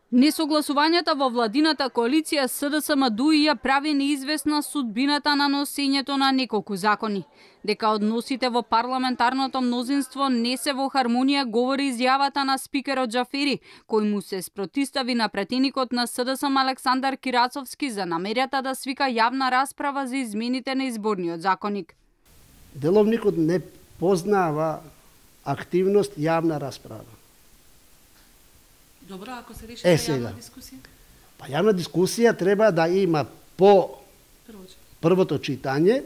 Несогласувањата во владината коалиција СДСМ-ДУИ ја прави неизвестна судбината на носењето на неколку закони. Дека односите во парламентарното мнозинство не се во хармонија говори изјавата на спикерот Џафери, кој му се спротистави на претеникот на СДСМ Александар Кирацовски за намерата да свика јавна расправа за измените на изборниот законник. Деловникот не познава активност јавна расправа. Добро, ако се реши јавна дискусија? Па јавна дискусија треба да има по првото читање,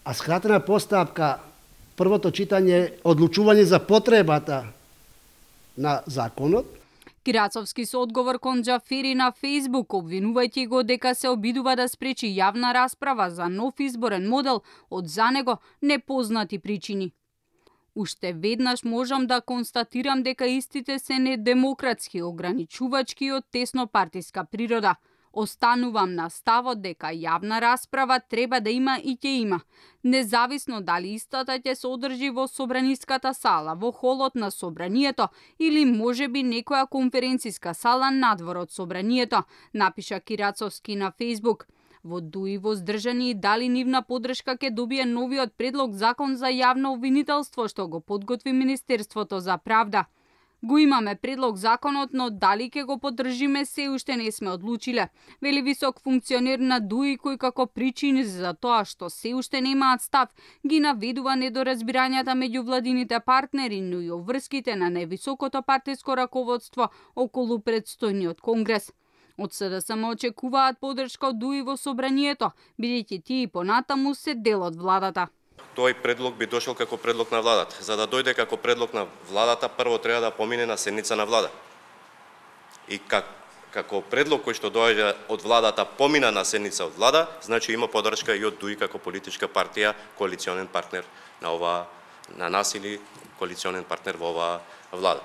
а скратена постапка првото читање одлучување за потребата на законот. Кирацовски со одговор кон Џафери на Фејсбук, обвинувајќи го дека се обидува да спречи јавна расправа за нов изборен модел од за него непознати причини. Уште веднаш можам да констатирам дека истите се недемократски, ограничувачки и од теснопартиска природа. Останувам на ставот дека јавна расправа треба да има и ќе има, независно дали истата ќе се одржи во собраниската сала, во холот на собранието или можеби некоја конференциска сала надвор од собранието, напиша Кирацовски на Фејсбук. Во ДУИ воздржани и дали нивна поддршка ќе добие новиот предлог закон за јавно обвинителство што го подготви Министерството за правда. Го имаме предлог законот, но дали ќе го поддржиме се уште не сме одлучиле, вели висок функционер на ДУИ кој како причини за тоа што се уште немаат став ги наведува недоразбирањата меѓу владините партнери, но и обврските на највисокото партиско раководство околу предстојниот конгрес. Од СДСМ очекуваат поддршка од ДУИ во собранието, бидејќи тие и понатаму се дел од владата. Тој предлог би дошол како предлог на владата. За да дојде како предлог на владата, прво треба да помине на седница на влада. И како предлог кој што доаѓа од владата помина на седница од влада, значи има поддршка и од ДУИ како политичка партија, коалиционен партнер на нас или коалиционен партнер во оваа влада.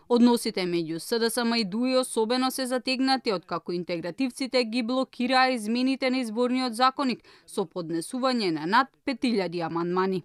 Односите меѓу СДСМ и ДУИ особено се затегнати откако интегративците ги блокираа измените на изборниот законник со поднесување на над 5000 амандмани.